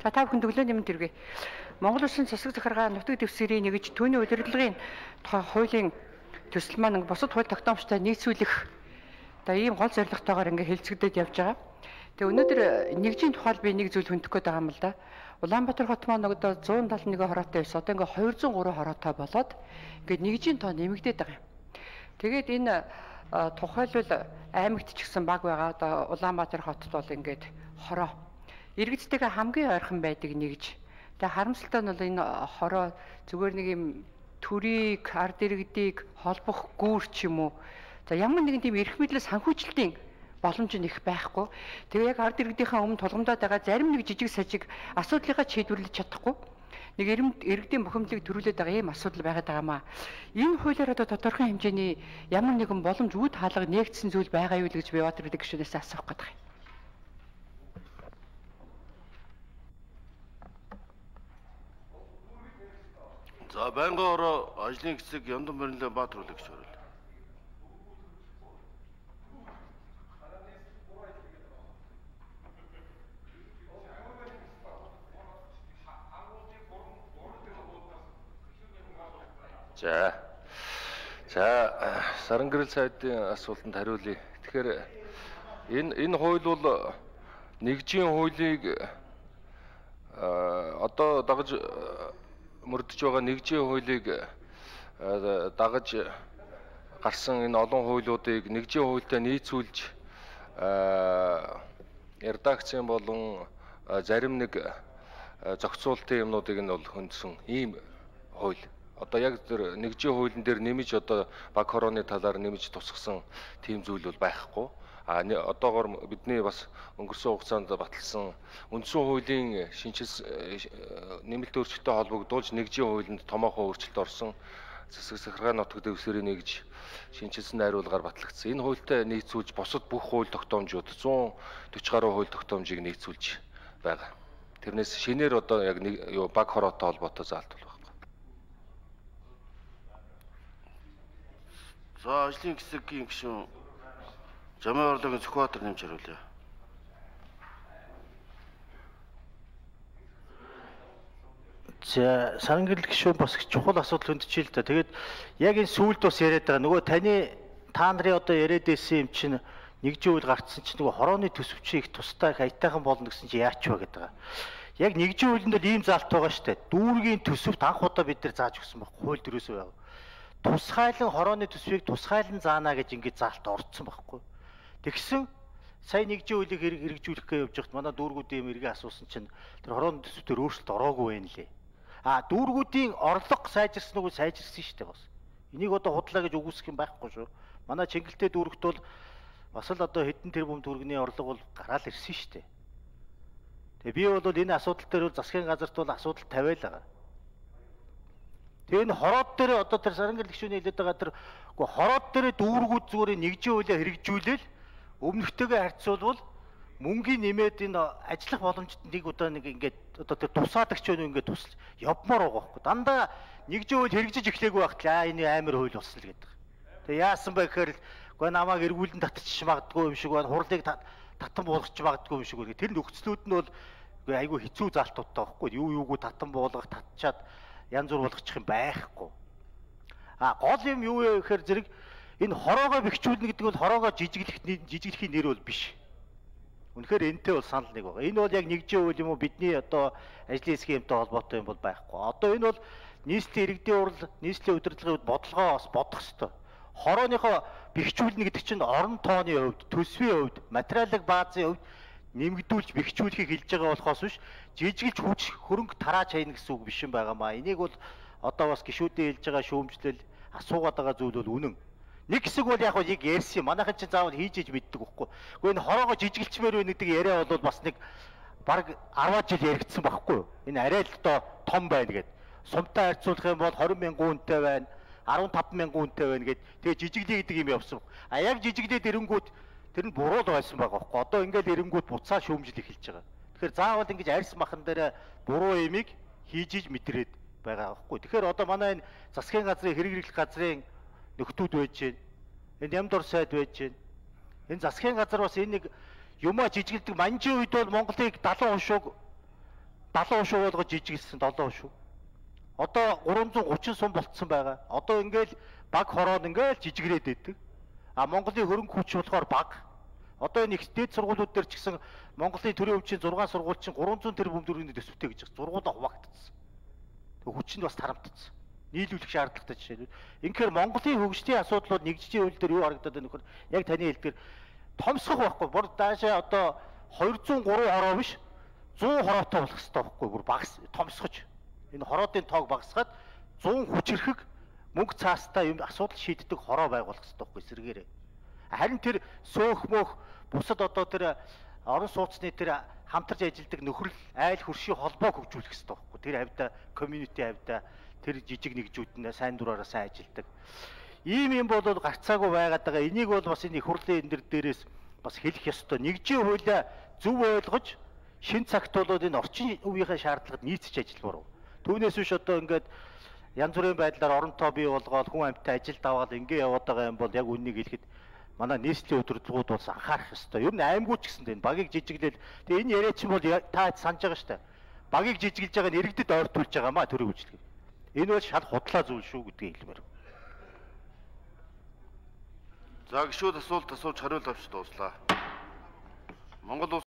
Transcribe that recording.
За та бүхэн төглөө нэмэлт хэрэгэ. Монгол Улсын засаг захиргаа нутаг дэвсгэрийн нэгж түүний удирдлагын тухай хуулийн төсөл маань бусад хууль тогтоомжтой нийцүүлэх одоо ийм гол зорилготойгоор ингээ хэлцэгдээд явж байгаа. Тэгээ өнөөдөр нэгжийн тухай би нэг зүйл хөндөх гээд байгаа юм л да. Улаанбаатар хот маань одоо 171 хороотой байсан. Одоо ингээ 203 хороотой болоод ингээ нэгжийн тоо нэмэгдээд байгаа юм. Тэгээд энэ тухайлбал аймагт ч гэсэн баг байгаа. Одоо Улаанбаатар хотод бол ингээд хороо иргэдтэйгээ хамгийн ойрхон байдаг нэгж. Тэгээ харамсалтай нь бол энэ хороо зүгээр нэг юм төрийг, ард иргэдийг холбох гүүр ч юм уу. За ямар нэгэн тийм эрх мэдлээ санхүүжилтийн боломж нь их байхгүй. Тэгээ яг ард иргэдийнхээ өмнө тулгамдаад байгаа зарим нэг жижиг сажиг асуудлыгаа шийдвэрлэж чадахгүй. Нэг иргэдийн бухимдлыг төрүүлээд байгаа ийм асуудал байгаад байгаамаа. Энэ хуулиар одоо тодорхой хэмжээний ямар нэгэн боломж үд хаалга нээгдсэн зүйл байгаа юу л гэж би Баатар эдийн гишүүнээс асуух гээд байна. За байнгын ороо ажлын хэсэг Яндан Барилан Баатар үлээ гэж байна. За Сарангэрэл сайдын асуултанд хариулъя. Тэгэхээр энэ хууль бол нэгжийн хуулийг одоо дагаж мөрдөж байгаа нэгжийн хуулийг дагаж гарсан энэ олон хуулиудыг нэгжийн хуультай нийцүүлж редакцийн болон зарим нэг зохицуултын юмнуудыг нь бол хөндсөн ийм хууль. Одоо яг тэр нэгжийн хуулийн дээр нэмж одоо баг хорооны талаар нэмж тусгасан тийм зүйл бол байхгүй. Одоогоор бидний бас өнгөрсөн хугацаанд баталсан үндсэн хуулийн нэмэлт өөрчлөлтөд холбогдуулж нэгжийн хуулинд томоохон өөрчлөлт орсон засаг захиргаа нутаг дэвсгэрийн нэгж шинжилсэн найруулгаар батлагдсан. Энэ хуультай нийцүүлж бусад бүх хууль тогтоомжууд 140 гаруй хууль тогтоомжийг нийцүүлж байгаа. Тэрнээс шинээр одоо яг баг хороотой холбоотой заалт бол байна. За ажлын хэсгийн гишүүн Жамын орлогын Сүхбаатар нэмж хариулъя. За Сарангэрэл гишүүн бас чухал асуудал хөндөж л да. Тэгээд яг энэ сүүлд бас яриад байгаа нөгөө та нарын одоо яриад байсан юм чинь нэгжийн хууль гарцсан чинь нөгөө хорооны төсөвчийг тустай аятайхан болно гэсэн чинь яач вэ гэдэг байгаа. Яг нэгжийн хуулинд л ийм заалт байгаа шүү дээ. Дүүргийн төсөвт анх удаа бид нар зааж өгсөн байхгүй хууль дөрөөсөө байгаа. Тусгайлан хорооны төсвийг тусгайлан заана гэж ингэж заалт орцсон байхгүй. Тэгсэн сая нэгжийн хуулийг хэрэгжүүлэх гэж явж байхад манай дүүргүүдийн мэргээ асуусан чинь тэр хорооны төсвөөр өөрчлөлт ороогүй байна лээ. Дүүргүүдийн орлого сайжирсан уу сайжирсан шүү дээ бас. Энийг одоо худлаа гэж үгүйсэх юм байхгүй шүү. Манай Чингэлтэй дүүрэгт бол бас л одоо хэдэн тэрбум төгрөгийн орлого бол гараал ирсэн шүү дээ. Тэгээ би бол энэ асуудал дээр бол засгийн газарт бол асуудал тавиал байгаа. Тэгээ энэ хороод дээр одоо тэр Сарангэрэл гишүүний хэлээд байгаа тэр хороод дээр дүүргүүд зүгээр нэгжийн хуулиа хэрэгжүүлээл өмнөхтэйгээ харьцуулбал мөнгөний нэмээд энэ ажиллах боломжтой нэг удаа нэг ингээд одоо тэр тусаалагч өнөө ингээд тусалж явмаар байгаа байхгүй. Дандаа нэгжийн хууль хэрэгжиж эхлэегүй байхад энэ амар хууль болсон л гэдэг. Тэгээ яасан бэ гэхээр үгүй намайг эргүүлэн татчих магадгүй юм шиг байна. Хурлыг татан буулгах магадгүй юм шиг байна. Тэр нөхцлүүд нь бол үгүй айгүй хэцүү заалтуудтай байхгүй. Юугүй татан буулгах татчаад янз бүр болгочих юм байхгүй. Гол юм юу вэ гэхээр зэрэг энэ хороогоо бэхжүүлнэ гэдэг бол хороогоо жижиглэхийн нэр бол биш. Үнэхээр энэтэй бол санал нэг байгаа. Энэ бол яг нэгжийн хууль юм уу бидний одоо ажлын схемтэй холбоотой юм бол байхгүй. Одоо энэ бол нийслэлийн иргэдийн урал, нийслэлийн удирдлагын бодлогоо бас бодох ёстой. Хорооныхоо бэхжүүлнэ гэдэг чинь орон тооны хувьд, төсвийн хувьд, материалын баазын хувьд нэмэгдүүлж бэхжүүлэхийг хэлж байгаа болохоос биш жижиглж хүч хөрөнгө тарааж хайна гэсэн үг биш юм байгаамаа. Энийг бол одоо бас гишүүдийн хэлж байгаа шүүмжлэл асуугаад байгаа зүйл бол үнэн. Нэг хэсэг бол яг яг ярьсан юм. Манайхан ч заавал хийж иж мэддэг байхгүй. Гэхдээ энэ хороогоо жижиглчмээр байна гэдэг яриа бол бас нэг бараг 10 жил яригдсан байхгүй юу? Энэ арай л одоо том байна гэд. Сумтай харьцуулах юм бол 20,000 хүнтэй байна, 15,000 хүнтэй байна гэд. Тэгээ жижиглээ гэдэг юм явсан. Яг жижиглээд эрэнгүүд тэр нь буруу л байсан байгаа байхгүй. Одоо ингээл эрэнгүүд буцаа шүүмжил эхэлж байгаа. Тэгэхээр заавал ингэж арьс махан дээр буруу юмыг хийж иж мэдрээд байгаа байхгүй. Тэгэхээр одоо манай энэ засгийн газрын хэрэгжүүлэх газрын нөхдүүд байж гэн. Энэ Ямдор сайд байж гэн. Энэ засгийн газар бас энэ нэг юмаа жижиглдэг манжийн үед бол Монголыг 70% шуг 70% болгож жижиглсэн 7%. Одоо 330 сум болцсон байгаа. Одоо ингээл баг хороод ингээл жижигрээд идэг. А Монголын хөрөнгө хүч болохоор баг. Одоо энэ их дэд сургуулиуд дээр ч гэсэн Монголын төрийн өвчийн 6 сургууль чинь 300 тэрбум төгрөгийн төсөвтэй гэж байна. Сургуулаа хуваагдсан. Тэг хүч нь бас тарамтцсан. Нийлүүлэх шаардлагатай жишээ. Инхээр Монголын хөгжлийн асуудлууд нэгжлийн хууль дээр юу харагдаад байна нөхөр? Яг таны хэлдгээр томсгох байхгүй. Бүр даашаа одоо 203 хороо биш 100 хороотой болох хэрэгтэй байхгүй. Бүр багас томсгож. Энэ хороодын тоог багасгаад 100 хүчрэхэг мөнгө цаастаа юм асуудал шийддэг хороо байгуулах хэрэгтэй байхгүй сэргээрээ. Харин тэр сөөх мөх бусад одоо тэр орон сууцны тэр хамтарч ажилладаг нөхрөл айл хөршийн холбоог хөгжүүлэх хэрэгтэй байхгүй. Тэр хавьда community хавьда тэр жижиг нэгжүүд нь сайн дураараа сайн ажилладаг. Ийм бол гарцаагүй байгаад байгаа. Энийг бол бас энэ их хурлын энэ дээрээс бас хэлэх ёстой. Нэгжийн хуулиа зөв ойлгож шин цагт бол энэ орчин үеийнхээ шаардлагад нийцэж ажилламаар. Түүнээс биш одоо ингээд янз бүрийн байдлаар оронтой бий болгоод хүн амьтаа ажилд аваад ингэ яваад байгаа юм бол яг үннийг хэлэхэд манай нийслэлийн удирдлагууд бол анхаарах ёстой. Ер нь аймагуй ч гэсэн энэ багийг жижиглэл. Тэгээ энэ яриа чинь бол та санаж байгаа шүү дээ. Багийг жижиглэж байгаа нь иргэдэд ойртуулж байгаа маа төрийн үйлчлэг. Энэ бол шал худлаа зүйл шүү гэдгийг хэлмээр. За гişүүд асуулт асууж хариулт авч дууслаа. Монгол